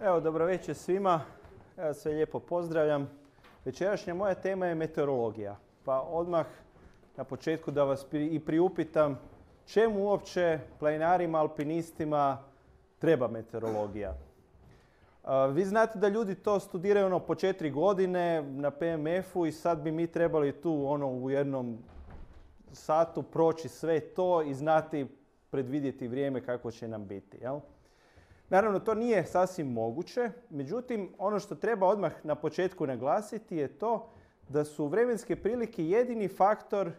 Evo, dobro večer svima. Evo, sve lijepo pozdravljam. Večerašnja moja tema je meteorologija. Pa odmah na početku da vas i priupitam čemu uopće planinarima, alpinistima treba meteorologija. Vi znate da ljudi to studiraju po 4 godine na PMF-u i sad bi mi trebali tu u jednom satu proći sve to i znati predvidjeti vrijeme kako će nam biti. Jel? Naravno, to nije sasvim moguće, međutim, ono što treba odmah na početku naglasiti je to da su vremenske prilike jedini faktor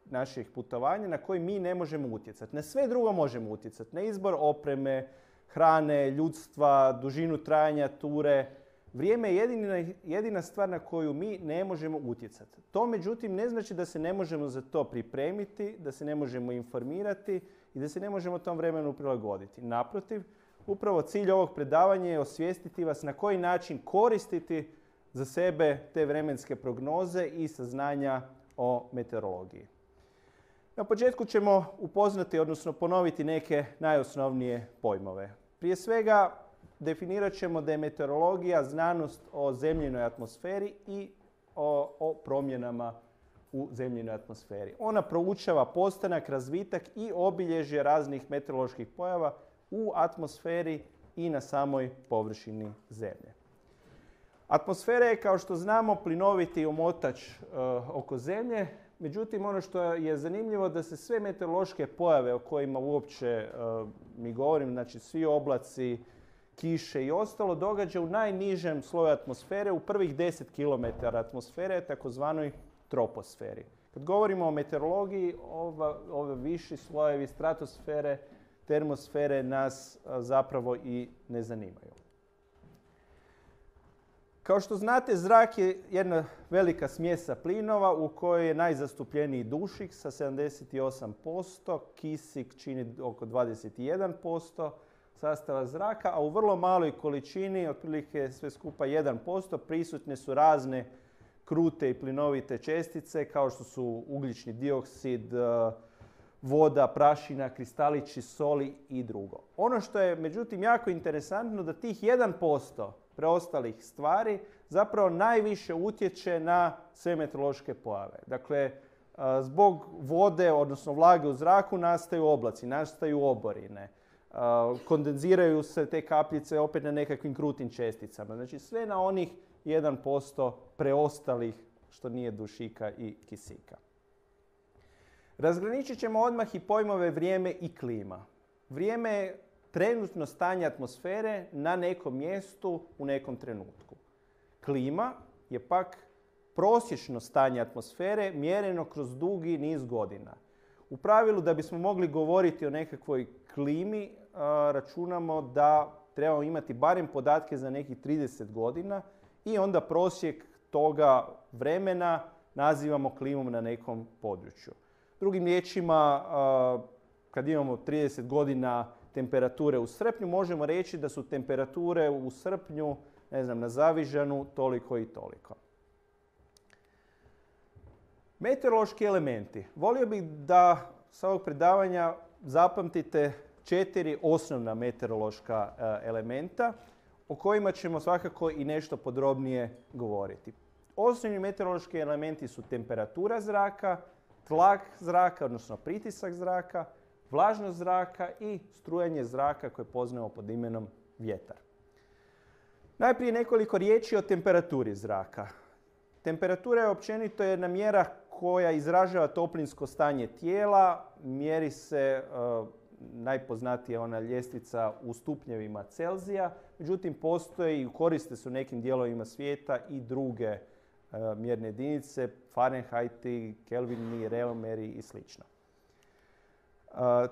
naših putovanja na koji mi ne možemo utjecati. Na sve drugo možemo utjecati. Na izbor opreme, hrane, ljudstva, dužinu trajanja ture. Vrijeme je jedina stvar na koju mi ne možemo utjecati. To, međutim, ne znači da se ne možemo za to pripremiti, da se ne možemo informirati i da se ne možemo tom vremenu prilagoditi. Naprotiv, upravo cilj ovog predavanja je osvijestiti vas na koji način koristiti za sebe te vremenske prognoze i saznanja o meteorologiji. Na početku ćemo upoznati, odnosno ponoviti neke najosnovnije pojmove. Prije svega, definirat ćemo da je meteorologija znanost o zemljinoj atmosferi i o promjenama u zemljinoj atmosferi. Ona proučava postanak, razvitak i obilježje raznih meteoroloških pojava u atmosferi i na samoj površini Zemlje. Atmosfera je, kao što znamo, plinoviti omotač oko Zemlje. Međutim, ono što je zanimljivo da se sve meteorološke pojave o kojima uopće mi govorim, znači svi oblaci, kiše i ostalo, događa u najnižem sloju atmosfere, u prvih 10 km atmosfere, takozvanoj troposferi. Kad govorimo o meteorologiji, ove viši slojevi stratosfere, termosfere nas zapravo i ne zanimaju. Kao što znate, zrak je jedna velika smjesa plinova u kojoj je najzastupljeniji dušik sa 78%, kisik čini oko 21% sastava zraka, a u vrlo maloj količini, otprilike sve skupa 1%, prisutne su razne krute i plinovite čestice kao što su ugljični dioksid, voda, prašina, kristalići soli i drugo. Ono što je međutim jako interesantno da tih 1% preostalih stvari zapravo najviše utječe na sve meteorološke pojave. Dakle, zbog vode, odnosno vlage u zraku, nastaju oblaci, nastaju oborine. Kondenziraju se te kapljice opet na nekakvim krutim česticama. Znači sve na onih 1% preostalih što nije dušika i kisika. Razgraničit ćemo odmah i pojmove vrijeme i klima. Vrijeme je trenutno stanje atmosfere na nekom mjestu u nekom trenutku. Klima je pak prosječno stanje atmosfere mjereno kroz dugi niz godina. U pravilu, da bismo mogli govoriti o nekakvoj klimi, računamo da trebamo imati barem podatke za nekih 30 godina i onda prosjek toga vremena nazivamo klimom na nekom području. Drugim riječima, kad imamo 30 godina temperature u srpnju, možemo reći da su temperature u srpnju, na Zavižanu, toliko i toliko. Meteorološki elementi. Volio bih da sa ovog predavanja zapamtite 4 osnovna meteorološka elementa o kojima ćemo svakako i nešto podrobnije govoriti. Osnovni meteorološki elementi su temperatura zraka, tlak zraka, odnosno pritisak zraka, vlažnost zraka i strujanje zraka koje poznajemo pod imenom vjetar. Najprije nekoliko riječi o temperaturi zraka. Temperatura je općenito jedna mjera koja izražava toplinsko stanje tijela, mjeri se najpoznatija ona ljestvica u stupnjevima Celzija, međutim postoje i koriste se u nekim dijelovima svijeta i druge mjerne jedinice, Fahrenheiti, Kelvini, Reomeri i sl.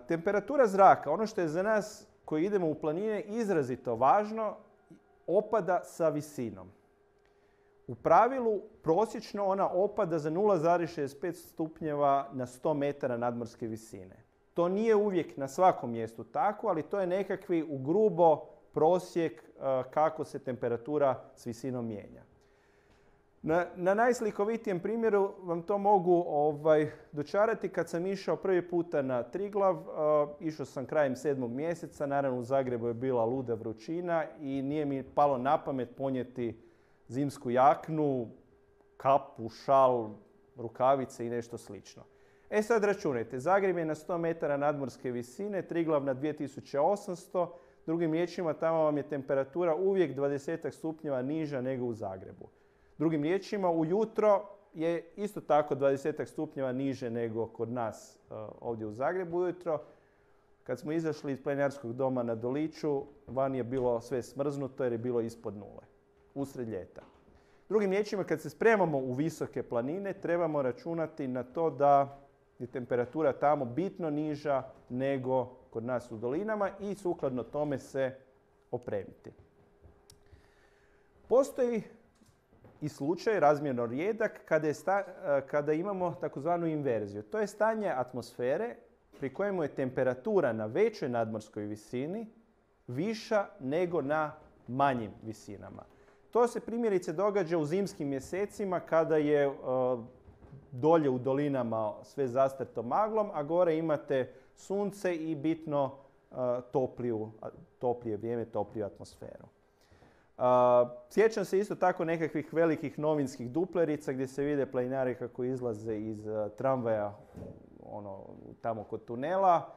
Temperatura zraka, ono što je za nas koji idemo u planine izrazito važno, opada sa visinom. U pravilu, prosječno ona opada za 0,65 stupnjeva na 100 metara nadmorske visine. To nije uvijek na svakom mjestu tako, ali to je nekakvi ugrubo prosjek kako se temperatura s visinom mijenja. Na najslikovitijem primjeru vam to mogu dočarati. Kad sam išao prvi puta na Triglav, išao sam krajem 7. mjeseca, naravno u Zagrebu je bila luda vrućina i nije mi palo na pamet ponijeti zimsku jaknu, kapu, šal, rukavice i nešto slično. E sad računajte, Zagreb je na 100 metara nadmorske visine, Triglav na 2800, drugim riječima tamo vam je temperatura uvijek 20 stupnjeva niža nego u Zagrebu. Drugim riječima, ujutro je isto tako 20 stupnjeva niže nego kod nas ovdje u Zagrebu ujutro. Kad smo izašli iz planinarskog doma na Doliću, van je bilo sve smrznuto jer je bilo ispod nule, usred ljeta. Drugim riječima, kad se spremamo u visoke planine, trebamo računati na to da je temperatura tamo bitno niža nego kod nas u dolinama i sukladno tome se opremiti. Postoji i slučaj razmjerno rijedak kada imamo takozvanu inverziju. To je stanje atmosfere pri kojemu je temperatura na većoj nadmorskoj visini viša nego na manjim visinama. To se primjerice događa u zimskim mjesecima kada je dolje u dolinama sve zastrto maglom, a gore imate sunce i bitno toplije vrijeme, topliju atmosferu. Sjećam se isto tako nekakvih velikih novinskih duplerica gdje se vide planinari kako izlaze iz tramvaja tamo kod tunela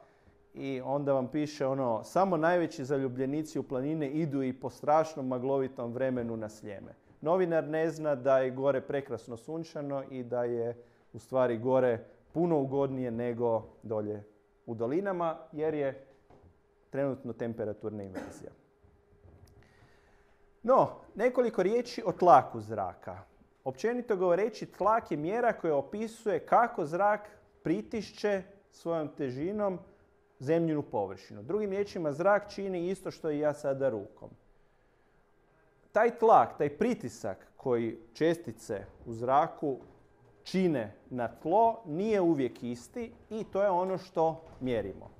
i onda vam piše samo najveći zaljubljenici u planine idu i po strašnom maglovitom vremenu na Sljeme. Novinar ne zna da je gore prekrasno sunčano i da je u stvari gore puno ugodnije nego dolje u dolinama jer je trenutno temperaturna inverzija. No, nekoliko riječi o tlaku zraka. Općenito govoreći, tlak je mjera koja opisuje kako zrak pritišće svojom težinom zemljinu površinu. Drugim riječima, zrak čini isto što i ja sada rukom. Taj tlak, taj pritisak koji čestice u zraku čine na tlo nije uvijek isti i to je ono što mjerimo.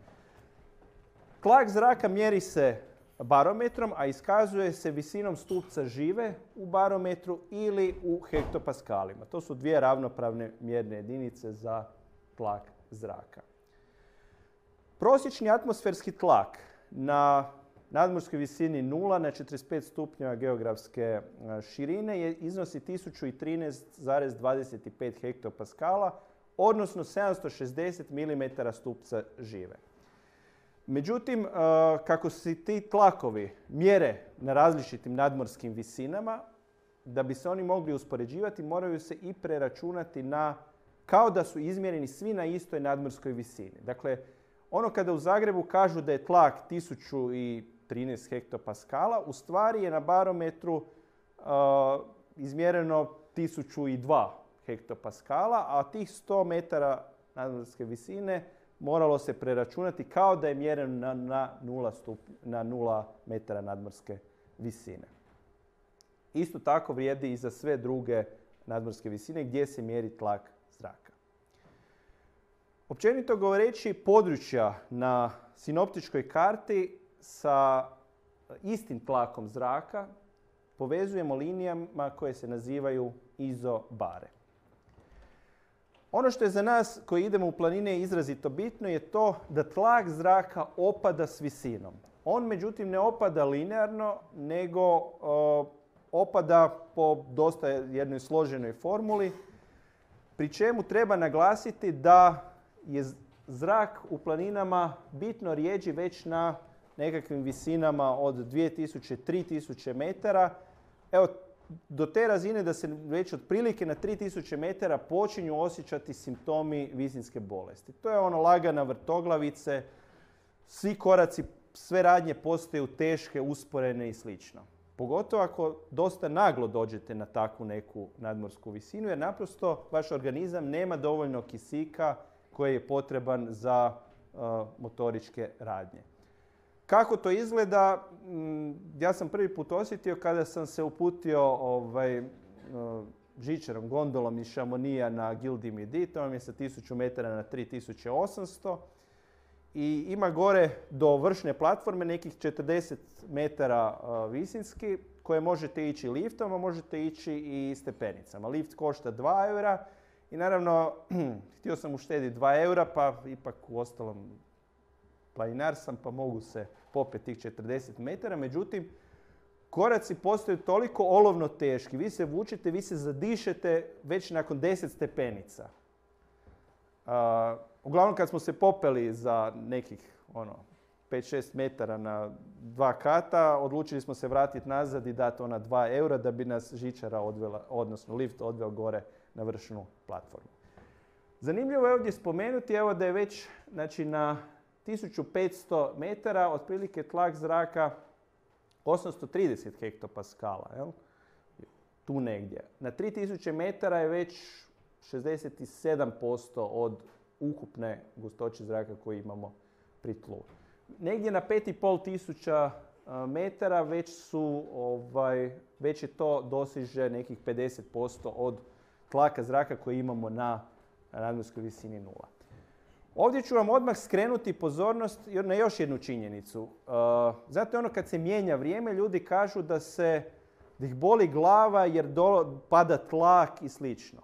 Tlak zraka mjeri se barometrom, a iskazuje se visinom stupca žive u barometru ili u hektopaskalima. To su dvije ravnopravne mjerne jedinice za tlak zraka. Prosječni atmosferski tlak na nadmorskoj visini 0 na 45 stupnjeva geografske širine iznosi 1013,25 hektopaskala, odnosno 760 mm stupca žive. Međutim, kako se ti tlakovi mjere na različitim nadmorskim visinama, da bi se oni mogli uspoređivati, moraju se i preračunati kao da su izmjereni svi na istoj nadmorskoj visini. Dakle, kada u Zagrebu kažu da je tlak 1013 hektopaskala, u stvari je na barometru izmjereno 1002 hektopaskala, a tih 100 metara nadmorske visine moralo se preračunati kao da je mjereno na 0 metara nadmorske visine. Isto tako vrijedi i za sve druge nadmorske visine gdje se mjeri tlak zraka. Općenito govoreći, područja na sinoptičkoj karti sa istim tlakom zraka povezujemo linijama koje se nazivaju izobare. Ono što je za nas koji idemo u planine izrazito bitno je to da tlak zraka opada s visinom. On međutim ne opada linearno, nego opada po dosta jednoj složenoj formuli, pri čemu treba naglasiti da je zrak u planinama bitno rjeđi već na nekakvim visinama od 2000-3000 metara. Evo, do te razine da se već otprilike na 3000 metara počinju osjećati simptomi visinske bolesti. To je lagana vrtoglavice, svi koraci, sve radnje postaju teške, usporene i slično. Pogotovo ako dosta naglo dođete na takvu neku nadmorsku visinu, jer naprosto vaš organizam nema dovoljno kisika koji je potreban za motoričke radnje. Kako to izgleda? Ja sam prvi put osjetio kada sam se uputio žičarom, gondolom iz Chamonija na Gilles du Midi, to vam je sa 1000 metara na 3800. I ima gore do vršne platforme nekih 40 metara visinski. koje možete ići liftom, a možete ići i stepenicama. Lift košta 2 eura i naravno htio sam uštediti 2 eura, pa ipak u ostalom planinar sam, pa mogu se popeti tih 40 metara. Međutim, koraci postaju toliko olovno teški. Vi se vučete, vi se zadišete već nakon 10 stepenica. Uglavnom kad smo se popeli za nekih 5-6 metara na 2 kata, odlučili smo se vratiti nazad i dati ona 2 eura da bi nas žičara odvela, odnosno lift odveo gore na vršnu platformu. Zanimljivo je ovdje spomenuti da je već na 1500 metara otprilike tlak zraka 830 hektopaskala. Jel? Tu negdje. Na 3000 metara je već 67% od ukupne gustoće zraka koju imamo pri tlu. Negdje na 5500 metara već je to dosiže nekih 50% od tlaka zraka koji imamo na nadmorskoj visini 0. Ovdje ću vam odmah skrenuti pozornost na još jednu činjenicu. Zato kad se mijenja vrijeme, ljudi kažu da ih boli glava jer pada tlak i slično.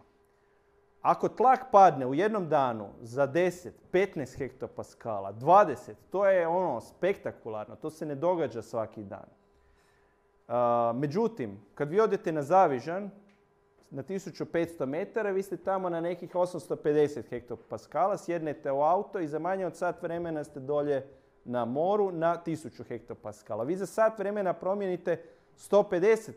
Ako tlak padne u jednom danu za 10, 15 hektopaskala, 20, to je spektakularno. To se ne događa svaki dan. Međutim, kad vi odete na Zavižan, na 1500 metara, vi ste tamo na nekih 850 hektopaskala, sjednete u auto i za manje od sat vremena ste dolje na moru na 1000 hektopaskala. Vi za sat vremena promijenite 150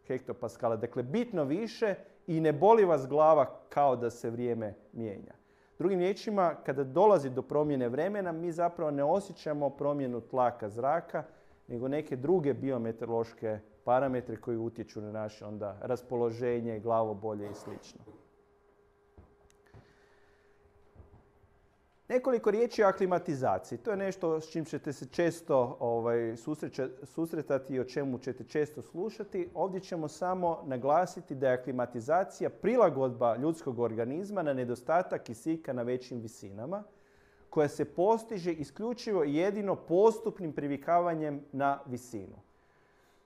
hektopaskala, dakle bitno više i ne boli vas glava kao da se vrijeme mijenja. Drugim riječima, kada dolazi do promjene vremena, mi zapravo ne osjećamo promjenu tlaka zraka, nego neke druge biometeorološke parametre koji utječu na naše onda raspoloženje, glavobolje i sl. Nekoliko riječi o aklimatizaciji. To je nešto s čim ćete se često susretati i o čemu ćete često slušati. Ovdje ćemo samo naglasiti da je aklimatizacija prilagodba ljudskog organizma na nedostatak kisika na većim visinama, koja se postiže isključivo i jedino postupnim privikavanjem na visinu.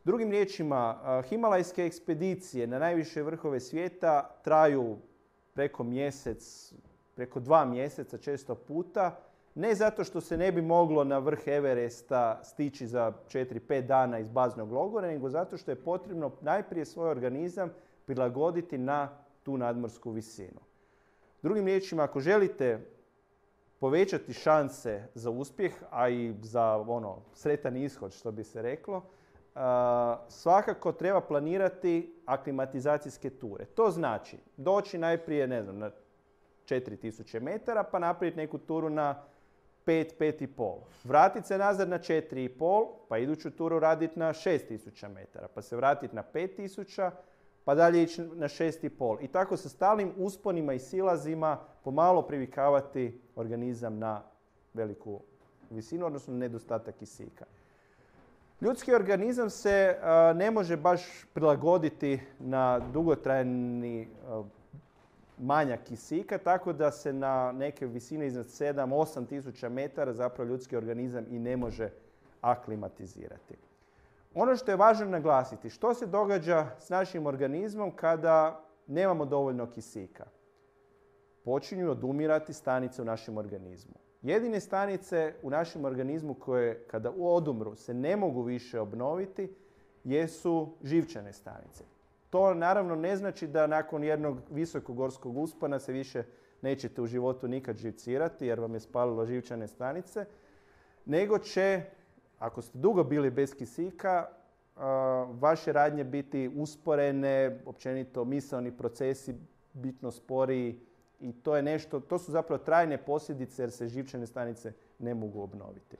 Drugim riječima, himalajske ekspedicije na najviše vrhove svijeta traju preko mjesec, preko 2 mjeseca često puta, ne zato što se ne bi moglo na vrh Everesta stići za 4-5 dana iz baznog logora, nego zato što je potrebno najprije svoj organizam prilagoditi na tu nadmorsku visinu. Drugim riječima, ako želite povećati šanse za uspjeh, a i za sretan ishod, što bi se reklo, svakako treba planirati aklimatizacijske ture. To znači doći najprije, na 4000 metara, pa napraviti neku turu na 5-5,5. Vratiti se nazad na 4,5, pa iduću turu raditi na 6000 metara, pa se vratiti na 5000, pa dalje ići na 6,5. I tako sa stalnim usponima i silazima pomalo privikavati organizam na veliku visinu, odnosno nedostatak kisika. Ljudski organizam se ne može baš prilagoditi na dugotrajni manjak kisika, tako da se na neke visine iznad 7-8 tisuća metara zapravo ljudski organizam i ne može aklimatizirati. Ono što je važno naglasiti, što se događa s našim organizmom kada nemamo dovoljno kisika? Počinju odumirati stanice u našem organizmu. Jedine stanice u našem organizmu koje kada odumru se ne mogu više obnoviti jesu živčane stanice. To naravno ne znači da nakon jednog visokogorskog uspona se više nećete u životu nikad živcirati jer vam je spalilo živčane stanice, nego će, ako ste dugo bili bez kisika, vaše radnje biti usporene, općenito misaoni procesi bitno sporiji i to su zapravo trajne posljedice jer se živčane stanice ne mogu obnoviti.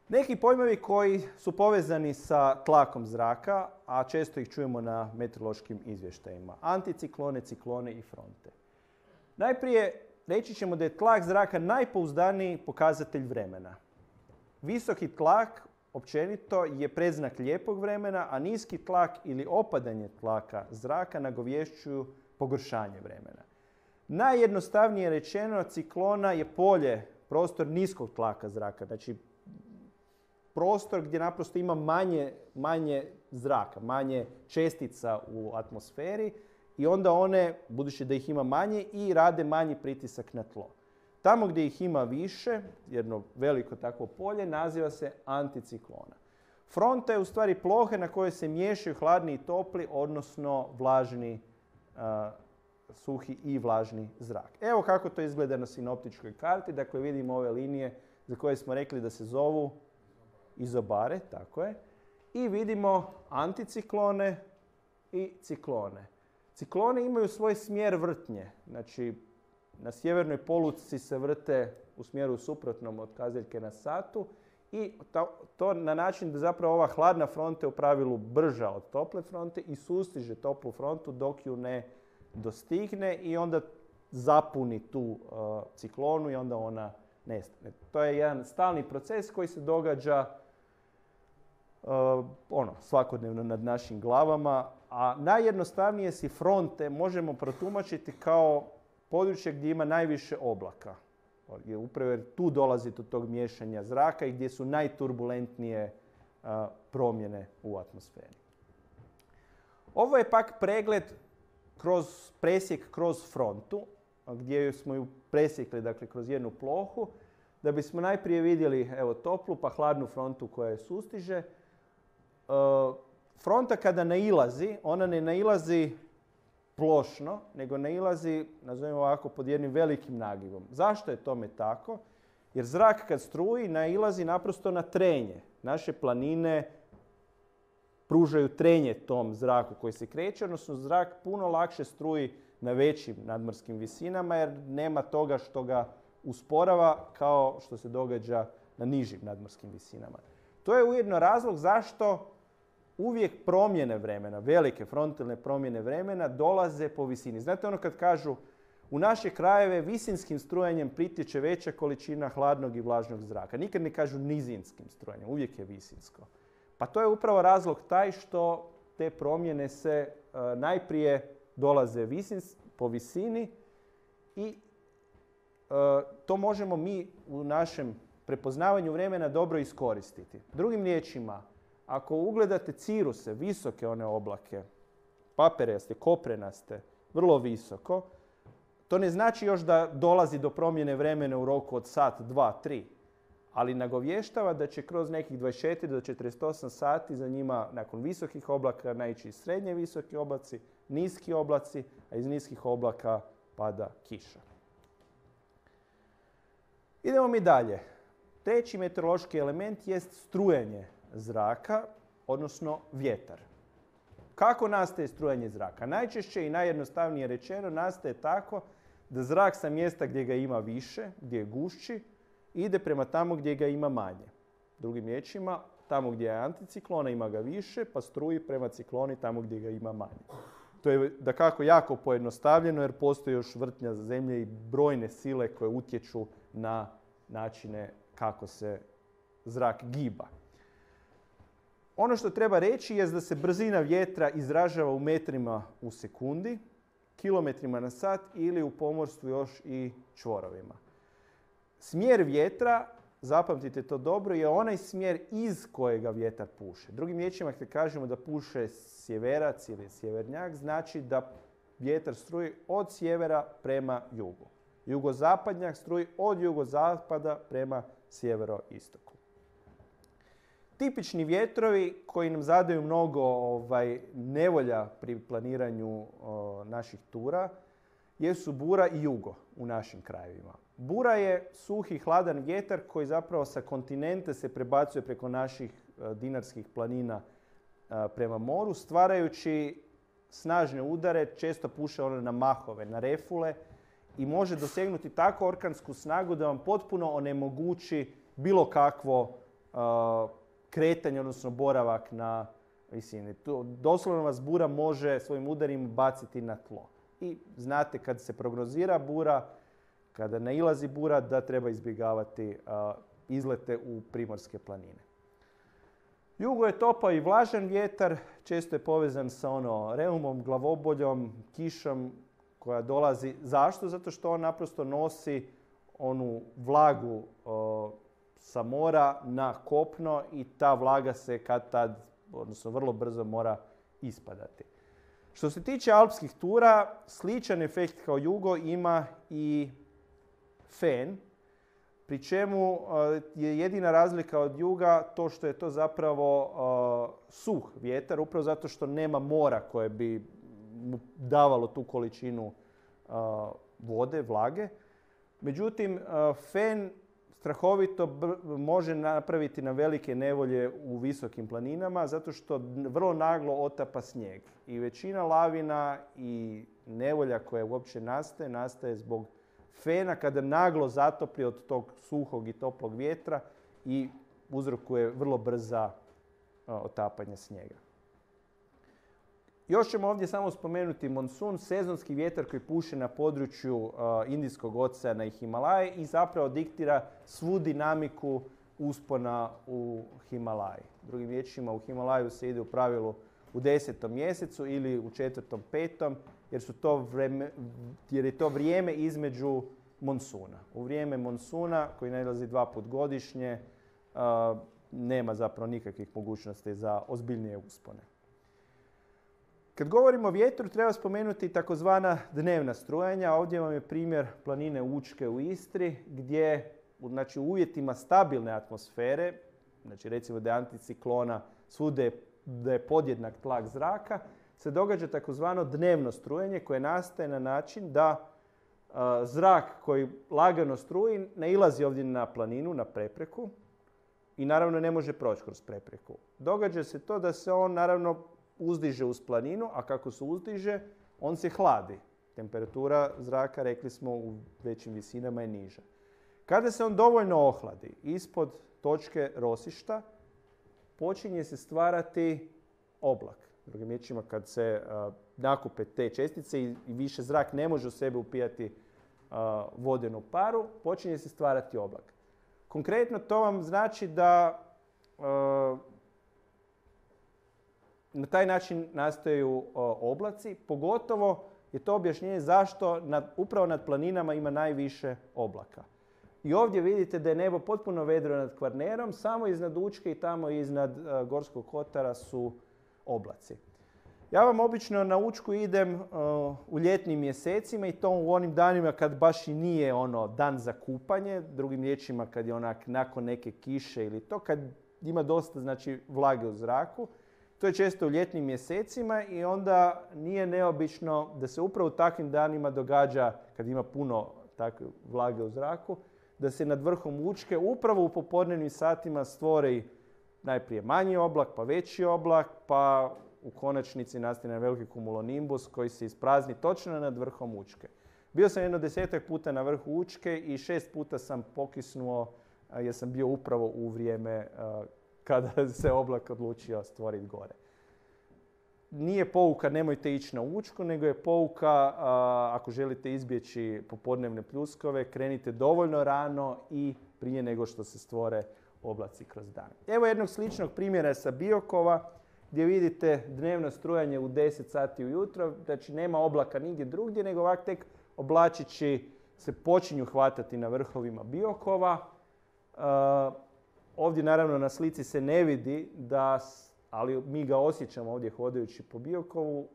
Neki pojmovi koji su povezani sa tlakom zraka, a često ih čujemo na meteorološkim izvještajima. Anticiklone, ciklone i fronte. Najprije reći ćemo da je tlak zraka najpouzdaniji pokazatelj vremena. Visoki tlak općenito je predznak lijepog vremena, a niski tlak ili opadanje tlaka zraka nagovješćuju pogoršanje vremena. Najjednostavnije rečeno, ciklona je polje, prostor niskog tlaka zraka, znači prostor gdje naprosto ima manje zraka, manje čestica u atmosferi i onda one, budući da ih ima manje, i rade manji pritisak na tlo. Tamo gdje ih ima više, jedno veliko takvo polje, naziva se anticiklona. Fronta je u stvari plohe na kojoj se miješaju hladni i topli, odnosno vlažni, suhi i vlažni zrak. Evo kako to izgleda na sinoptičkoj karti. Dakle, vidimo ove linije za koje smo rekli da se zovu izobare, tako je. I vidimo anticiklone i ciklone. Cikloni imaju svoj smjer vrtnje. Znači, na sjevernoj poluci se vrte u smjeru suprotnom od kazaljke na satu i to na način da zapravo ova hladna fronta je u pravilu brža od tople fronte i sustiže toplu frontu dok ju ne dostigne i onda zapuni tu ciklonu i onda ona nestane. To je jedan stalni proces koji se događa svakodnevno nad našim glavama, a najjednostavnije si fronte možemo protumačiti kao područje gdje ima najviše oblaka. Upravo jer tu dolazi do tog miješanja zraka i gdje su najturbulentnije promjene u atmosferi. Ovo je pak pregled presjek kroz frontu, gdje smo ju presjekli, dakle, kroz jednu plohu, da bismo najprije vidjeli toplu pa hladnu frontu koja je sustiže. Fronta kada nailazi, ona ne nailazi plošno, nego nailazi, nazovimo ovako, pod jednim velikim nagivom. Zašto je tome tako? Jer zrak kad struji nailazi naprosto na trenje. Naše planine pružaju trenje tom zraku koji se kreće, odnosno zrak puno lakše struji na većim nadmorskim visinama jer nema toga što ga usporava kao što se događa na nižim nadmorskim visinama. To je ujedno razlog zašto uvijek promjene vremena, velike frontalne promjene vremena dolaze po visini. Znate ono kad kažu u naše krajeve visinskim strujanjem pritječe veća količina hladnog i vlažnog zraka. Nikad ne kažu nizinskim strujanjem, uvijek je visinsko. Pa to je upravo razlog taj što te promjene se najprije dolaze po visini i to možemo mi u našem prepoznavanju vremena dobro iskoristiti. Drugim riječima, ako ugledate ciruse, visoke one oblake, paperaste, koprenaste, vrlo visoko, to ne znači još da dolazi do promjene vremena u roku od sat, 2, 3, ali nagovještava da će kroz nekih 24 do 48 sati za njima nakon visokih oblaka naići srednje visoki oblaci, niski oblaci, a iz niskih oblaka pada kiša. Idemo mi dalje. Treći meteorološki element jest strujanje zraka, odnosno vjetar. Kako nastaje strujanje zraka? Najčešće i najjednostavnije rečeno nastaje tako da zrak sa mjesta gdje ga ima više, gdje je gušći, ide prema tamo gdje ga ima manje. Drugim riječima, tamo gdje je anticiklona ima ga više, pa struji prema cikloni tamo gdje ga ima manje. To je dakako jako pojednostavljeno jer postoji još vrtnja zemlje i brojne sile koje utječu na načine kako se zrak giba. Ono što treba reći je da se brzina vjetra izražava u metrima u sekundi, kilometrima na sat ili u pomorstvu još i čvorovima. Smjer vjetra, zapamtite to dobro, je onaj smjer iz kojega vjetar puše. Drugim riječima, kad kažemo da puše sjeverac ili sjevernjak, znači da vjetar struji od sjevera prema jugu. Jugozapadnjak struji od jugozapada prema sjeveroistoku. Tipični vjetrovi koji nam zadaju mnogo nevolja pri planiranju naših tura jesu bura i jugo u našim krajevima. Bura je suhi, hladan vjetar koji zapravo sa kontinenta se prebacuje preko naših dinarskih planina prema moru, stvarajući snažne udare, često puše na mahove, na refule i može dosegnuti tako orkansku snagu da vam potpuno onemogući bilo kakvo kretanje, odnosno boravak na visini. Doslovno vas bura može svojim udarima baciti na tlo. I znate kad se prognozira bura, kada nailazi bura, da treba izbjegavati izlete u primorske planine. Jugo je topao i vlažan vjetar, često je povezan sa reumom, glavoboljom, kišom koja dolazi. Zašto? Zato što on naprosto nosi onu vlagu sa mora na kopno i ta vlaga se kad tad, odnosno vrlo brzo mora ispadati. Što se tiče alpskih tura, sličan efekt kao jugo ima i fen, pri čemu je jedina razlika od juga to što je to zapravo suh vjetar, upravo zato što nema mora koje bi mu davalo tu količinu vode, vlage. Međutim, fen strahovito može napraviti na velike nevolje u visokim planinama zato što vrlo naglo otapa snijeg. I većina lavina i nevolja koja uopće nastaje zbog fena kada naglo zatopi od tog suhog i toplog vjetra i uzrokuje vrlo brza otapanje snijega. Još ćemo ovdje samo spomenuti monsun, sezonski vjetar koji puše na području Indijskog oceana i Himalaje i zapravo diktira svu dinamiku uspona u Himalaji. Drugim riječima, u Himalaju se ide u pravilu u 10. mjesecu ili u 4., 5. jer je to vrijeme između monsuna. U vrijeme monsuna, koji nailazi 2 puta godišnje, nema zapravo nikakvih mogućnosti za ozbiljnije uspone. Kad govorimo o vjetru, treba spomenuti takozvana dnevna strujanja. Ovdje vam je primjer planine Učke u Istri, gdje u uvjetima stabilne atmosfere, znači recimo da je anticiklona, svuda da je podjednak tlak zraka, se događa takozvano dnevno strujenje koje nastaje na način da zrak koji lagano struji nailazi ovdje na planinu, na prepreku i naravno ne može proći kroz prepreku. Događa se to da se on naravno uzdiže uz planinu, a kako se uzdiže, on se hladi. Temperatura zraka, rekli smo, u većim visinama je niža. Kada se on dovoljno ohladi ispod točke rosišta, počinje se stvarati oblak. Drugim riječima, kad se nakupe te čestice i više zrak ne može u sebe upijati vodenu paru, počinje se stvarati oblak. Konkretno to vam znači da na taj način nastaju oblaci, pogotovo je to objašnjenje zašto upravo nad planinama ima najviše oblaka. I ovdje vidite da je nebo potpuno vedro nad Kvarnerom, samo iznad Učke i tamo iznad Gorskog kotara su oblaci. Ja vam obično na Učku idem u ljetnim mjesecima i to u onim danima kad baš i nije dan za kupanje, drugim riječima kad je nakon neke kiše ili to, kad ima dosta vlage u zraku. To je često u ljetnim mjesecima i onda nije neobično da se upravo u takvim danima događa, kad ima puno takve vlage u zraku, da se nad vrhom Učke upravo u popodnevnim satima stvori najprije manji oblak, pa veći oblak, pa u konačnici nastane veliki kumulonimbus koji se isprazni točno nad vrhom Učke. Bio sam 10 puta na vrhu Učke i 6 puta sam pokisnuo jer sam bio upravo u vrijeme kada se oblak odlučio stvoriti gore. Nije pouka nemojte ići na Učku, nego je pouka ako želite izbjeći popodnevne pljuskove, krenite dovoljno rano i prije nego što se stvore oblaci kroz dan. Evo jednog sličnog primjera sa Biokova gdje vidite dnevno strujanje u 10 sati ujutro, znači nema oblaka nigdje drugdje, nego ovak tek oblačići se počinju hvatati na vrhovima Biokova. Ovdje naravno na slici se ne vidi, ali mi ga osjećamo ovdje hodajući po Biokovu,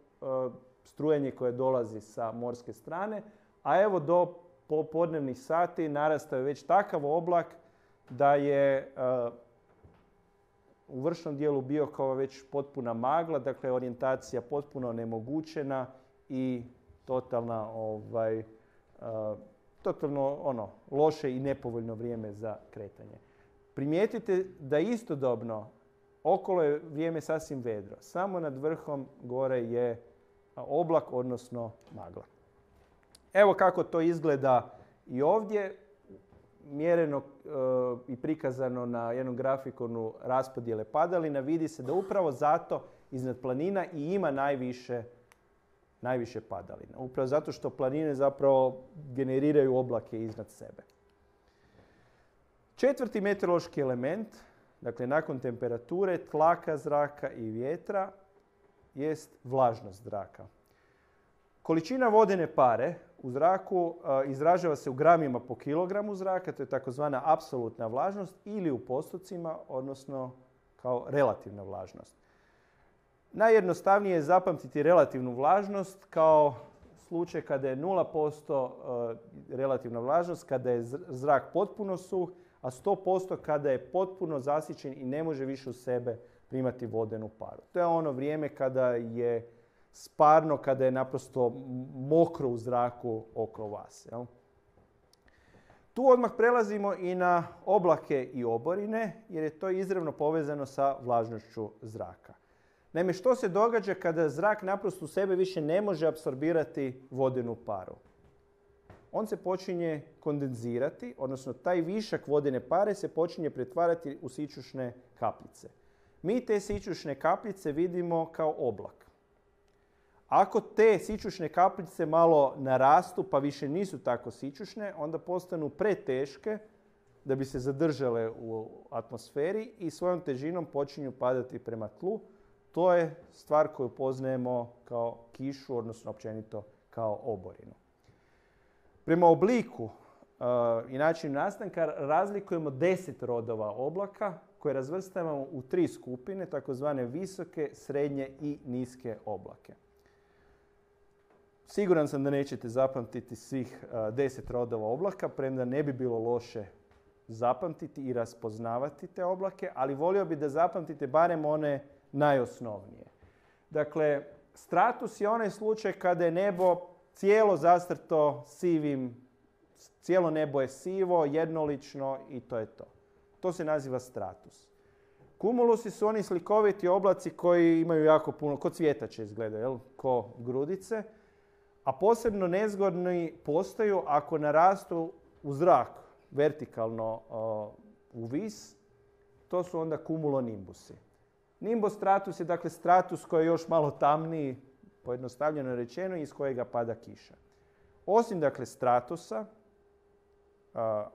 strujanje koje dolazi sa morske strane, a evo do popodnevnih sati narastao je već takav oblak da je u vršnom dijelu Biokova već potpuna magla, dakle orijentacija potpuno onemogućena i totalno loše i nepovoljno vrijeme za kretanje. Primijetite da istodobno okolo je vrijeme sasvim vedro. Samo nad vrhom gore je oblak, odnosno magla. Evo kako to izgleda i ovdje, mjereno i prikazano na jednom grafikonu raspodjele padalina. Vidi se da upravo zato iznad planina i ima najviše padalina. Upravo zato što planine zapravo generiraju oblake iznad sebe. 4. meteorološki element, dakle nakon temperature, tlaka zraka i vjetra, jest vlažnost zraka. Količina vodene pare u zraku izražava se u gramima po kilogramu zraka, to je takozvana apsolutna vlažnost, ili u postocima, odnosno kao relativna vlažnost. Najjednostavnije je zapamtiti relativnu vlažnost kao slučaj kada je 0% relativna vlažnost, kada je zrak potpuno suh, a 100% kada je potpuno zasićen i ne može više u sebe primati vodenu paru. To je ono vrijeme kada je sparno, kada je naprosto mokro u zraku oko vas. Jel? Tu odmah prelazimo i na oblake i oborine, jer je to izravno povezano sa vlažnošću zraka. Naime, što se događa kada zrak naprosto u sebe više ne može apsorbirati vodenu paru? On se počinje kondenzirati, odnosno taj višak vodene pare se počinje pretvarati u sićušne kapljice. Mi te sićušne kapljice vidimo kao oblak. Ako te sićušne kapljice malo narastu pa više nisu tako sićušne, onda postanu preteške da bi se zadržale u atmosferi i svojom težinom počinju padati prema tlu. To je stvar koju poznajemo kao kišu, odnosno općenito kao oborinu. Prema obliku i načinu nastanka razlikujemo 10 rodova oblaka koje razvrstavamo u 3 skupine, takozvane visoke, srednje i niske oblake. Siguran sam da nećete zapamtiti svih 10 rodova oblaka, premda ne bi bilo loše zapamtiti i raspoznavati te oblake, ali volio bih da zapamtite barem one najosnovnije. Dakle, stratus je onaj slučaj kada je nebo cijelo zastrto sivim, cijelo nebo je sivo, jednolično i to je to. To se naziva stratus. Kumulusi su oni slikoviti oblaci koji imaju jako puno, ko cvjetače izgledaju, jel? Ko grudice, a posebno nezgodni postaju ako narastu u zrak, vertikalno u vis, to su onda kumulonimbusi. Nimbostratus je dakle stratus koji je još malo tamniji, pojednostavljeno rečeno, iz kojega pada kiša. Osim dakle stratusa,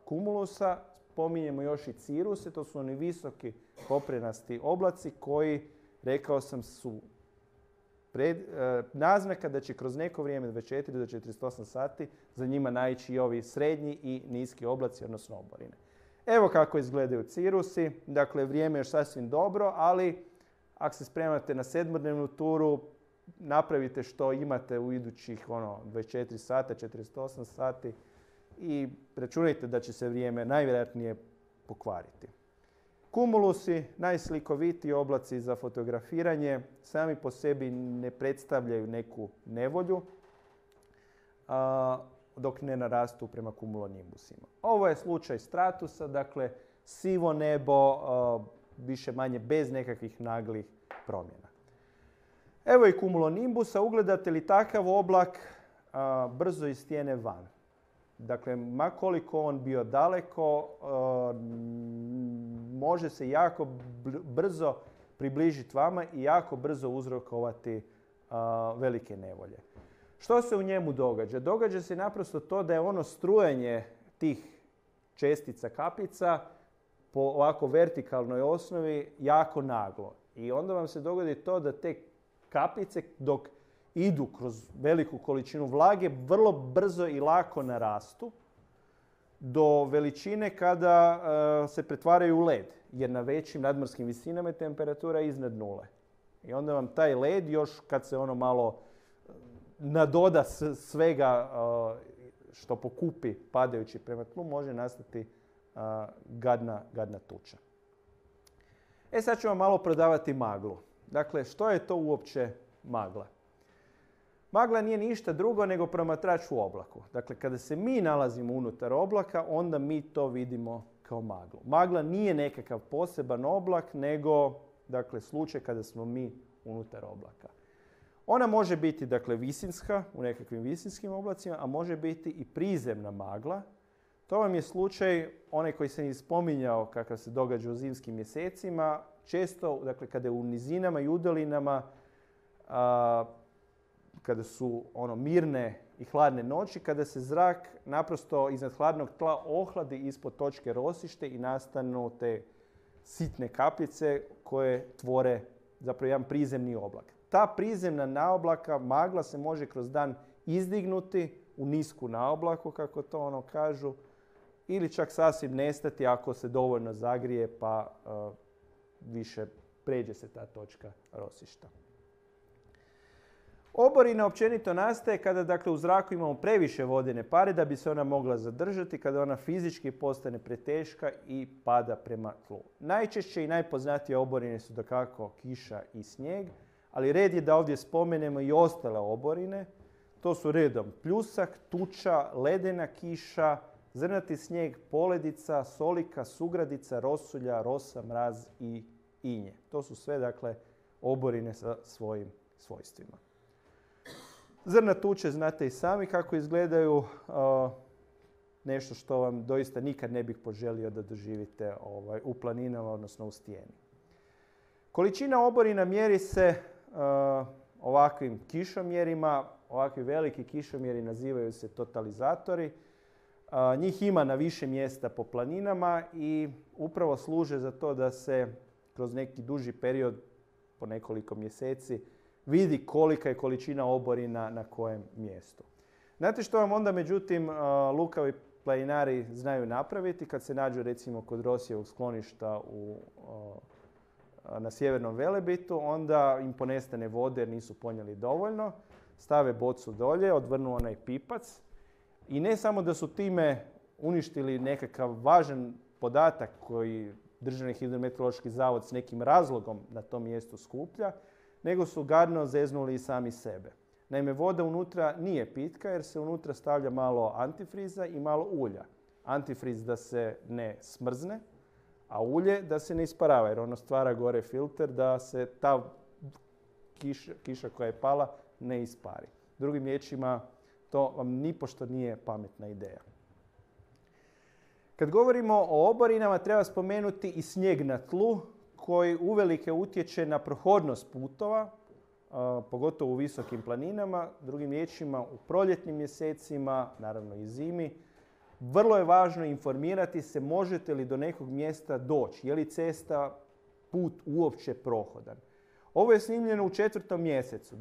kumulusa, spominjemo još i ciruse, to su oni visoki koprenasti oblaci koji, rekao sam, su naznaka da će kroz neko vrijeme, 24 do 48 sati, za njima naići i ovi srednji i niski oblaci, odnosno oborine. Evo kako izgledaju cirusi. Dakle, vrijeme je još sasvim dobro, ali ako se spremate na 7-dnevnu turu, napravite što imate u idućih 24 sata, 48 sati i računajte da će se vrijeme najvjerojatnije pokvariti. Kumulusi, najslikovitiji oblaci za fotografiranje, sami po sebi ne predstavljaju neku nevolju, dok ne narastu prema kumulonimbusima. Ovo je slučaj stratusa, dakle sivo nebo, više manje bez nekakvih naglih promjena. Evo i kumulonimbusa, ugledate li takav oblak, brzo istjene van. Dakle, ma koliko on bio daleko, može se jako brzo približiti vama i jako brzo uzrokovati velike nevolje. Što se u njemu događa? Događa se naprosto to da je ono strujanje tih čestica kapljica po ovako vertikalnoj osnovi jako naglo. I onda vam se dogodi to da te kapljice dok idu kroz veliku količinu vlage vrlo brzo i lako narastu do veličine kada se pretvaraju u led. Jer na većim nadmorskim visinama je temperatura iznad nule. I onda vam taj led još kad se ono malo nadoda svega što pokupi padajući prema tlu, može nastati gadna tuča. Sad ću vam malo prodavati maglu. Dakle, što je to uopće magla? Magla nije ništa drugo nego promatrač u oblaku. Dakle, kada se mi nalazimo unutar oblaka, onda mi to vidimo kao maglu. Magla nije nekakav poseban oblak, nego dakle, slučaj kada smo mi unutar oblaka. Ona može biti dakle, visinska u nekakvim visinskim oblacima, a može biti i prizemna magla. To vam je slučaj, onaj koji sam i spominjao kakav se događa u zimskim mjesecima. Često, dakle, kada je u nizinama i udalinama, kada su mirne i hladne noći, kada se zrak naprosto iznad hladnog tla ohladi ispod točke rosište i nastanu te sitne kapljice koje tvore zapravo jedan prizemni oblak. Ta prizemna naoblaka magla se može kroz dan izdignuti u nisku naoblaku, kako to ono kažu, ili čak sasvim nestati ako se dovoljno zagrije pa više pređe se ta točka rosišta. Oborina općenito nastaje kada dakle, u zraku imamo previše vodene pare da bi se ona mogla zadržati, kada ona fizički postane preteška i pada prema tlu. Najčešće i najpoznatije oborine su dakako kiša i snijeg, ali red je da ovdje spomenemo i ostale oborine. To su redom pljusak, tuča, ledena kiša, zrnati snijeg, poledica, solika, sugradica, rosulja, rosa, mraz i inje. To su sve dakle oborine sa svojim svojstvima. Zrna tuče znate i sami kako izgledaju, nešto što vam doista nikad ne bih poželio da doživite u planinama, odnosno u stijeni. Količina oborina mjeri se ovakvim kišomjerima. Ovakvi veliki kišomjeri nazivaju se totalizatori. Njih ima na više mjesta po planinama i upravo služe za to da se kroz neki duži period, po nekoliko mjeseci, vidi kolika je količina oborina na kojem mjestu. Znate što vam onda, međutim, lukavi planinari znaju napraviti kad se nađu recimo kod Rosijevog skloništa na Sjevernom Velebitu, onda im ponestane vode jer nisu ponijeli dovoljno, stave bocu dolje, odvrnu onaj pipac i ne samo da su time uništili nekakav važan podatak koji Državni hidrometeorološki zavod s nekim razlogom na tom mjestu skuplja, nego su gadno zeznuli i sami sebe. Naime, voda unutra nije pitka jer se unutra stavlja malo antifriza i malo ulja. Antifriz da se ne smrzne, a ulje da se ne isparava jer ono stvara gore filter da se ta kiša koja je pala ne ispari. Drugim riječima, to vam nipošto nije pametna ideja. Kad govorimo o oborinama, treba spomenuti i snijeg na tlu koji uvelike utječe na prohodnost putova, pogotovo u visokim planinama. Drugim riječima, u proljetnim mjesecima, naravno i zimi, vrlo je važno informirati se možete li do nekog mjesta doći, je li cesta, put uopće prohodan. Ovo je snimljeno u 4. mjesecu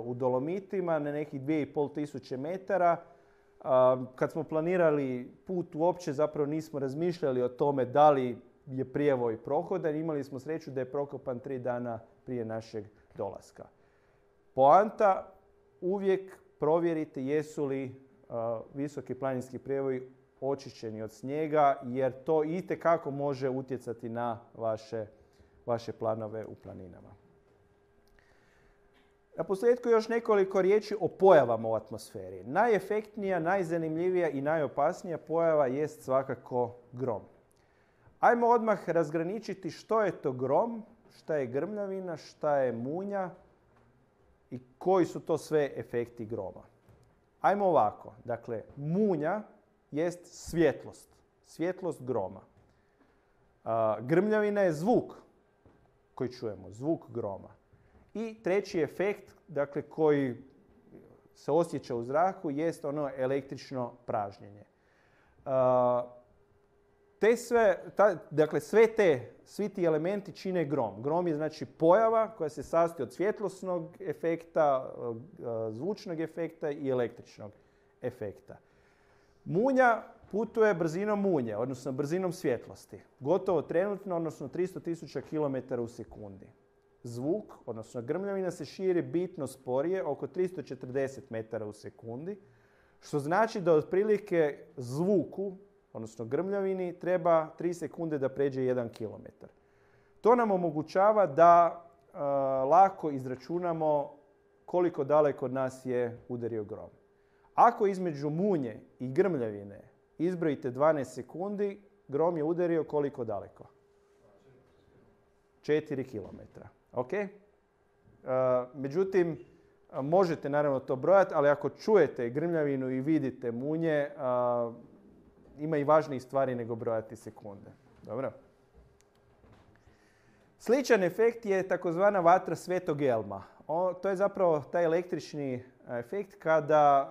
u Dolomitima na nekih 2500 metara. Kad smo planirali put uopće zapravo nismo razmišljali o tome da li je prijevoj prohodan. Imali smo sreću da je prokopan 3 dana prije našeg dolaska. Poanta, uvijek provjerite jesu li visoki planinski prijevoji očišćeni od snijega jer to itekako može utjecati na vaše planove u planinama. Na posljedku još nekoliko riječi o pojavama u atmosferi. Najefektnija, najzanimljivija i najopasnija pojava jest svakako grom. Ajmo odmah razgraničiti što je to grom, šta je grmljavina, šta je munja i koji su to sve efekti groma. Ajmo ovako. Dakle, munja jest svjetlost. Svjetlost groma. Grmljavina je zvuk koji čujemo, zvuk groma. I treći efekt, dakle, koji se osjeća u zraku, jest ono električno pražnjenje. Svi ti elementi čine grom. Grom je znači pojava koja se sastoji od svjetlosnog efekta, zvučnog efekta i električnog efekta. Munja putuje brzinom munje, odnosno brzinom svjetlosti. Gotovo trenutno, odnosno 300.000 km u sekundi. Zvuk, odnosno grmljavina, se širi bitno sporije, oko 340 metara u sekundi, što znači da otprilike zvuku, odnosno grmljavini, treba 3 sekunde da pređe 1 km. To nam omogućava da lako izračunamo koliko daleko od nas je udario grom. Ako između munje i grmljavine izbrojite 12 sekundi, grom je udario koliko daleko? 4 km. Okay? Međutim, možete naravno to brojati, ali ako čujete grmljavinu i vidite munje, ima i važnijih stvari nego brojati sekunde. Dobro? Sličan efekt je takozvana vatra Svetog Elma. To je zapravo taj električni efekt kada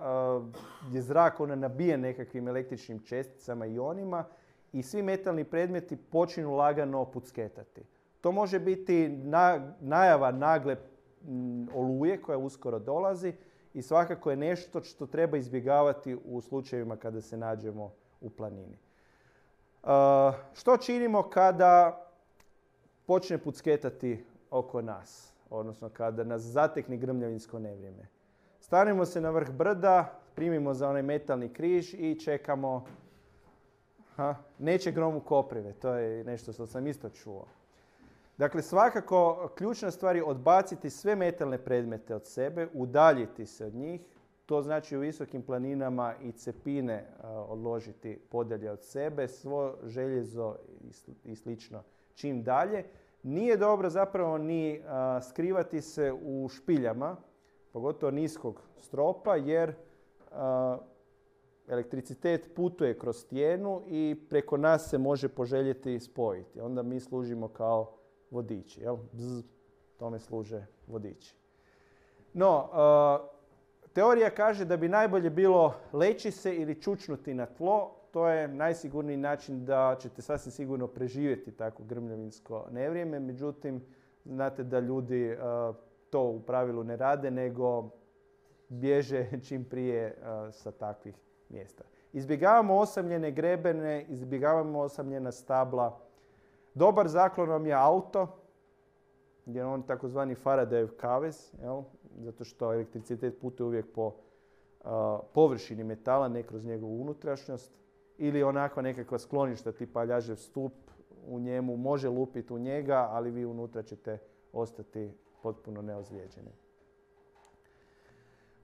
je zrak nabijen nekakvim električnim česticama i ionima i svi metalni predmeti počinu lagano pucketati. To može biti najava nagle oluje koja uskoro dolazi i svakako je nešto što treba izbjegavati u slučajevima kada se nađemo u planini. Što činimo kada počne pucketati oko nas, odnosno kada nas zatekne grmljavinsko nevrijeme? Stanemo se na vrh brda, primimo za onaj metalni križ i čekamo. Neće grom u koprive, to je nešto što sam isto čuo. Dakle, svakako ključna stvar je odbaciti sve metalne predmete od sebe, udaljiti se od njih. To znači u visokim planinama i cepine odložiti podalje od sebe, svo željezo i slično čim dalje. Nije dobro zapravo ni skrivati se u špiljama, pogotovo niskog stropa, jer elektricitet putuje kroz stijenu i preko nas se može poželjeti spojiti. Onda mi služimo kao vodiči. Jel? Tome služe vodiči. No, teorija kaže da bi najbolje bilo leći se ili čučnuti na tlo. To je najsigurniji način da ćete sasvim sigurno preživjeti tako grmljavinsko nevrijeme. Međutim, znate da ljudi to u pravilu ne rade, nego bježe čim prije sa takvih mjesta. Izbjegavamo osamljene grebene, izbjegavamo osamljena stabla. Dobar zaklon vam je auto, jer on takozvani Faradayev kavez, jel? Zato što elektricitet putuje uvijek po površini metala, ne kroz njegovu unutrašnjost. Ili onakva nekakva skloništa tipa ljažev stup, u njemu može lupiti u njega, ali vi unutra ćete ostati potpuno neozlijeđeni.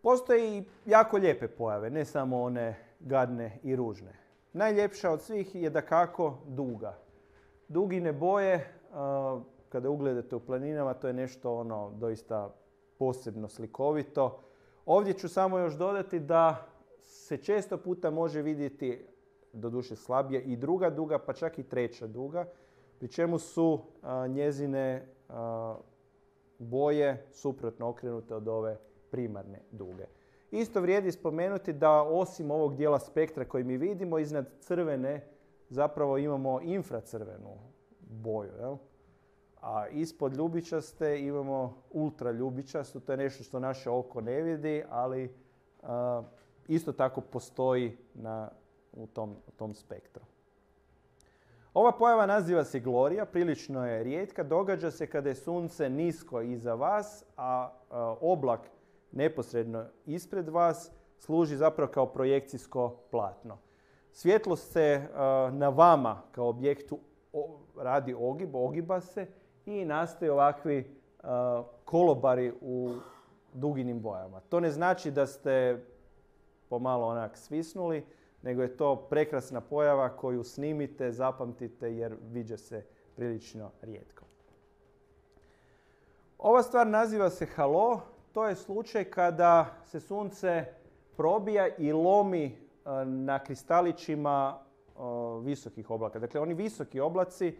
Postoje i jako lijepe pojave, ne samo one gadne i ružne. Najljepša od svih je dakako duga. Dugine boje, kada ugledate u planinama, to je nešto doista posebno slikovito. Ovdje ću samo još dodati da se često puta može vidjeti, doduše slabije, i druga duga, pa čak i treća duga, pri čemu su njezine boje suprotno okrenute od ove primarne duge. Isto vrijedi spomenuti da osim ovog dijela spektra koji mi vidimo, iznad crvene zapravo imamo infracrvenu boju. Jel? A ispod ljubičaste imamo ultraljubičastu, to je nešto što naše oko ne vidi, ali isto tako postoji u tom spektru. Ova pojava naziva se Glorija, prilično je rijetka, događa se kada je sunce nisko iza vas, a oblak neposredno ispred vas služi zapravo kao projekcijsko platno. Svjetlost se na vama kao objektu radi ogiba se i nastaju ovakvi kolobari u duginim bojama. To ne znači da ste pomalo onak svisnuli, nego je to prekrasna pojava koju snimite, zapamtite jer viđa se prilično rijetko. Ova stvar naziva se halo. To je slučaj kada se sunce probija i lomi na kristalićima visokih oblaka. Dakle, oni visoki oblaci,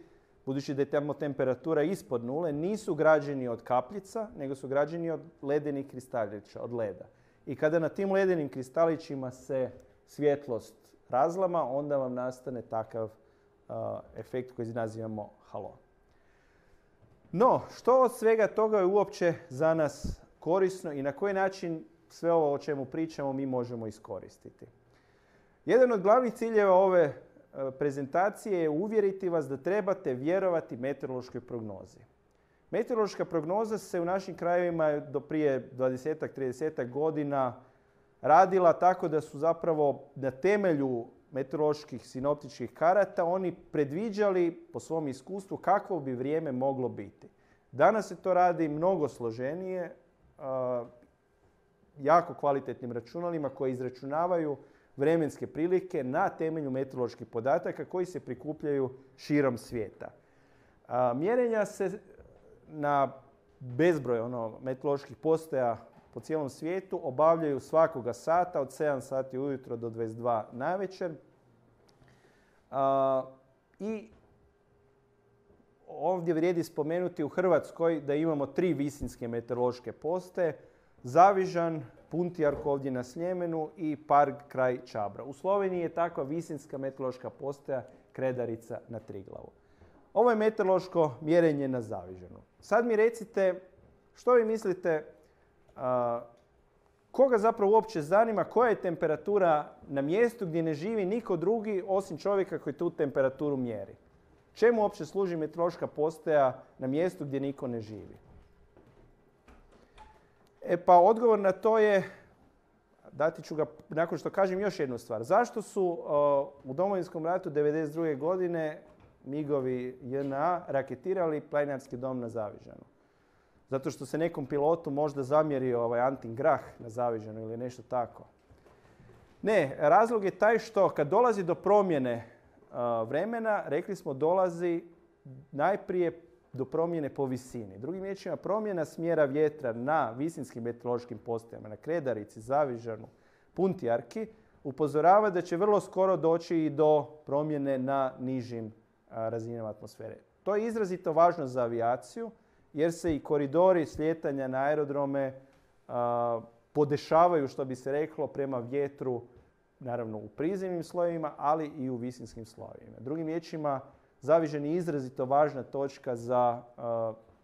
budući da je tamo temperatura ispod nule, nisu građeni od kapljica, nego su građeni od ledenih kristalića, od leda. I kada na tim ledenim kristalićima se svjetlost razlama, onda vam nastane takav efekt koji nazivamo halo. No, što od svega toga je uopće za nas korisno i na koji način sve ovo o čemu pričamo mi možemo iskoristiti? Jedan od glavnih ciljeva ove prezentacije je uvjeriti vas da trebate vjerovati meteorološkoj prognozi. Meteorološka prognoza se u našim krajevima do prije 20-30 godina radila tako da su zapravo na temelju meteoroloških sinoptičkih karata oni predviđali po svom iskustvu kakvo bi vrijeme moglo biti. Danas se to radi mnogo složenije, jako kvalitetnim računalima koji izračunavaju vremenske prilike na temelju meteoroloških podataka koji se prikupljaju širom svijeta. Mjerenja se na bezbroj meteoroloških postaja po cijelom svijetu obavljaju svakoga sata od 7 sati ujutro do 22 navečer. I ovdje vrijedi spomenuti u Hrvatskoj da imamo 3 visinske meteorološke postaje. Zavižan, Puntijark ovdje na Sljemenu i Park kraj Čabra. U Sloveniji je takva visinska meteorološka postaja Kredarica na Triglavu. Ovo je meteorološko mjerenje na Zavižanu. Sad mi recite što vi mislite koga zapravo uopće zanima koja je temperatura na mjestu gdje ne živi niko drugi osim čovjeka koji tu temperaturu mjeri? Čemu uopće služi meteorološka postaja na mjestu gdje niko ne živi? Pa odgovor na to je, dati ću ga nakon što kažem još jednu stvar. Zašto su u Domovinskom ratu 1992. godine MIG-ovi JNA raketirali planinarski dom na Zavižanu? Zato što se nekom pilotu možda zamjerio Antin Grah na Zavižanu ili nešto tako. Ne, razlog je taj što kad dolazi do promjene vremena, rekli smo dolazi najprije do promjene po visini. Drugim riječima, promjena smjera vjetra na visinskim meteorološkim postajama, na Kredarici, Zavižanu, Puntjarki, upozorava da će vrlo skoro doći i do promjene na nižim razinama atmosfere. To je izrazito važno za avijaciju, jer se i koridori slijetanja na aerodrome podešavaju, što bi se reklo, prema vjetru, naravno u prizemnim slojevima, ali i u visinskim slojevima. Drugim riječima, Zavižan je izrazito važna točka za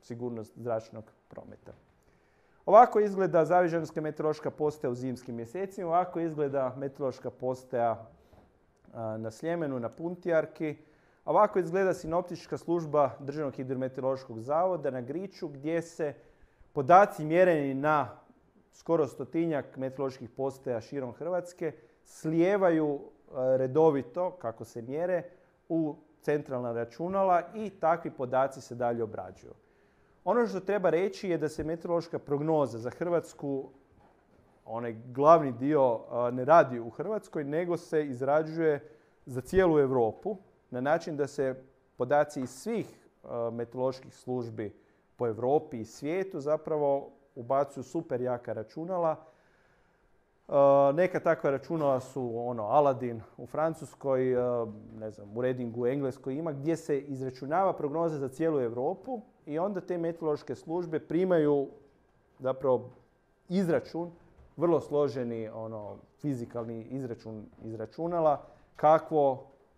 sigurnost zračnog prometa. Ovako izgleda Zavižanska meteorološka postaja u zimskim mjesecima, ovako izgleda meteorološka postaja na Sljemenu, na Puntjarki. Ovako izgleda sinoptička služba Državnog hidrometeorološkog zavoda na Griču, gdje se podaci mjereni na skoro 100-tinjak meteoroloških postaja širom Hrvatske slijevaju redovito, kako se mjere, u centralna računala i takvi podaci se dalje obrađuju. Ono što treba reći je da se meteorološka prognoza za Hrvatsku, onaj glavni dio, ne radi u Hrvatskoj, nego se izrađuje za cijelu Europu na način da se podaci iz svih meteoroloških službi po Europi i svijetu zapravo ubacuju super jaka računala. Neka takva računala su Aladin u Francuskoj, ne znam, u Readingu u Engleskoj ima, gdje se izračunava prognoza za cijelu Europu i onda te meteorološke službe primaju zapravo izračun, vrlo složeni fizikalni izračun iz računala,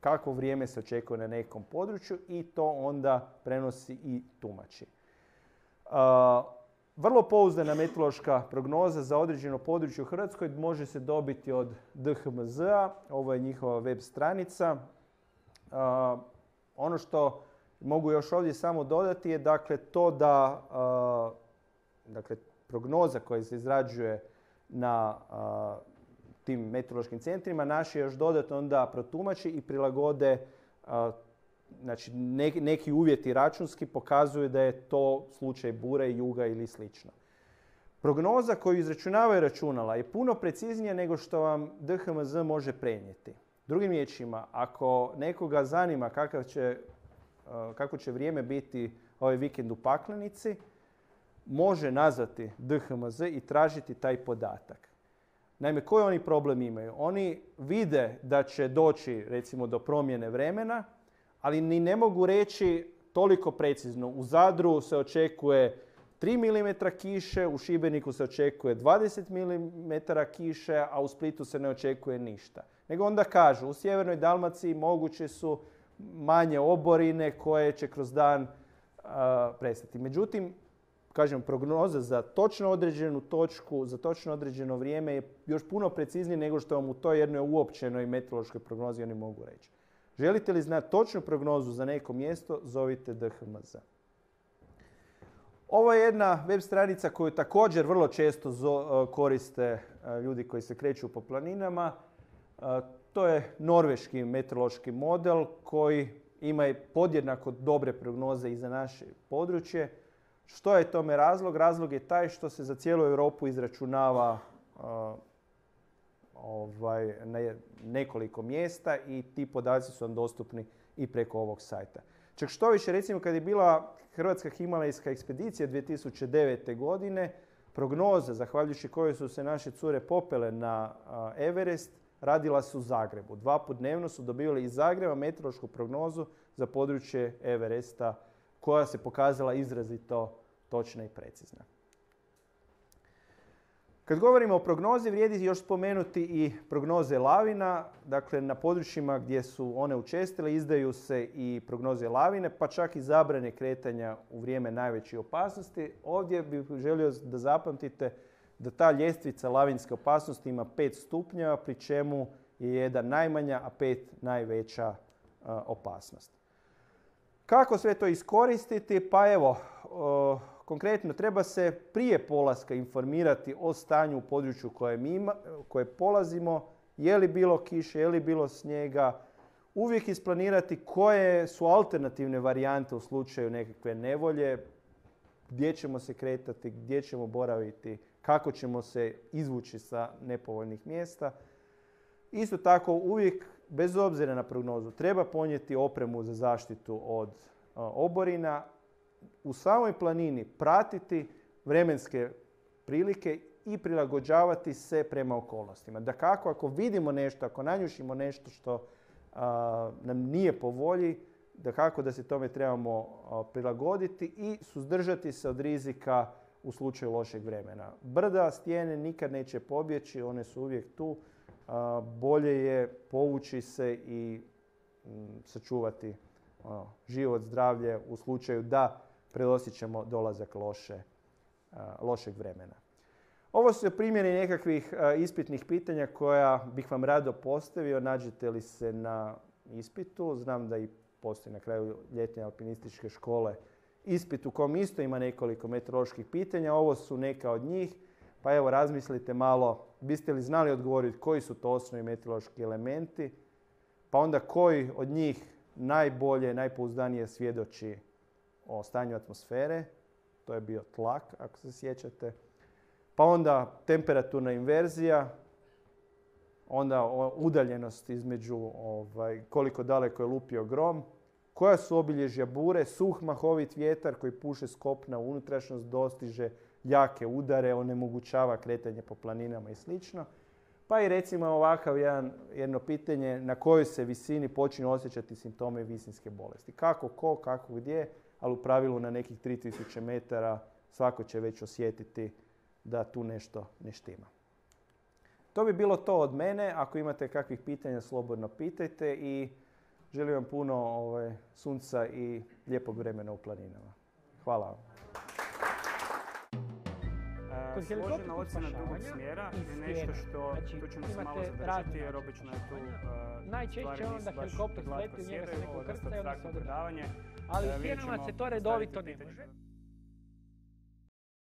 kakvo vrijeme se očekuje na nekom području i to onda prenosi i tumači. Vrlo pouzdana meteorološka prognoza za određeno područje u Hrvatskoj može se dobiti od DHMZ-a, ovo je njihova web stranica. Ono što mogu još ovdje samo dodati je to da prognoza koja se izrađuje na tim meteorološkim centrima naši još dodatno onda protumači i prilagode, znači neki uvjeti računski pokazuju da je to slučaj bure, juga ili slično. Prognoza koju izračunavaju računala je puno preciznija nego što vam DHMZ može prenijeti. Drugim riječima, ako nekoga zanima kako će vrijeme biti ovaj vikend u Paklenici, može nazvati DHMZ i tražiti taj podatak. Naime, koji oni problem imaju? Oni vide da će doći recimo do promjene vremena, ali ni ne mogu reći toliko precizno. U Zadru se očekuje 3 mm kiše, u Šibeniku se očekuje 20 mm kiše, a u Splitu se ne očekuje ništa. Nego onda kažu, u sjevernoj Dalmaciji moguće su manje oborine koje će kroz dan prestati. Međutim, kažem, prognoza za točno određenu točku, za točno određeno vrijeme je još puno preciznije nego što vam u toj jednoj uopćenoj meteorološkoj prognozi oni mogu reći. Želite li znati točnu prognozu za neko mjesto, zovite DHMZ. Ovo je jedna web stranica koju također vrlo često koriste ljudi koji se kreću po planinama. To je norveški meteorološki model koji ima podjednako dobre prognoze i za naše područje. Što je tome razlog? Razlog je taj što se za cijelu Europu izračunava na nekoliko mjesta i ti podaci su vam dostupni i preko ovog sajta. Čak što više, recimo kad je bila Hrvatska himalajska ekspedicija 2009. godine, prognoza zahvaljujući kojoj su se naše cure popele na Everest radila su u Zagrebu. 2 puta dnevno su dobivali iz Zagreba meteorološku prognozu za područje Everesta koja se pokazala izrazito točna i precizna. Kad govorimo o prognozi, vrijedi još spomenuti i prognoze lavina. Dakle, na područjima gdje su one učestile izdaju se i prognoze lavine, pa čak i zabrane kretanja u vrijeme najveće opasnosti. Ovdje bih želio da zapamtite da ta ljestvica lavinske opasnosti ima 5 stupnjeva, pri čemu je 1 najmanja, a 5 najveća opasnost. Kako sve to iskoristiti? Pa evo, konkretno treba se prije polaska informirati o stanju u području koje polazimo, je li bilo kiše, je li bilo snijega, uvijek isplanirati koje su alternativne varijante u slučaju nekakve nevolje, gdje ćemo se kretati, gdje ćemo boraviti, kako ćemo se izvući sa nepovoljnih mjesta. Isto tako uvijek, bez obzira na prognozu, treba ponijeti opremu za zaštitu od oborina, u samoj planini pratiti vremenske prilike i prilagođavati se prema okolnostima. Dakako, ako vidimo nešto, ako nanjušimo nešto što nam nije po volji, dakako da se tome trebamo prilagoditi i suzdržati se od rizika u slučaju lošeg vremena. Brda, stijene nikad neće pobjeći, one su uvijek tu. Bolje je povući se i sačuvati život, zdravlje u slučaju da predosjećamo dolazak lošeg vremena. Ovo su primjeri nekakvih ispitnih pitanja koja bih vam rado postavio. Nađete li se na ispitu? Znam da i postoji na kraju ljetne alpinističke škole ispit u kom isto ima nekoliko meteoroloških pitanja. Ovo su neka od njih. Pa evo, razmislite malo, biste li znali odgovoriti koji su to osnovni meteorološki elementi, pa onda koji od njih najbolje, najpouzdanije svjedoči o stanju atmosfere. To je bio tlak, ako se sjećate. Pa onda temperaturna inverzija, onda udaljenost između koliko daleko je lupio grom, koja su obilježja bure, suh mahovit vjetar koji puše s kopna u unutrašnjost, dostiže jake udare, onemogućava kretanje po planinama i sl. Pa i recimo ovakav jedno pitanje na kojoj se visini počinju osjećati simptome visinske bolesti. Kako, ko, kako, gdje, ali u pravilu na nekih 3000 metara svako će već osjetiti da tu nešto ne štima. To bi bilo to od mene. Ako imate kakvih pitanja, slobodno pitajte i želim vam puno sunca i lijepog vremena u planinama. Hvala vam. Složena ocjena drugog smjera je nešto što, tu ćemo se malo zadržati jer obično je tu najčešće onda helikopter sleti u njega se neko ukrca i onda se održava. Ali u stjenama se to redovito ne može.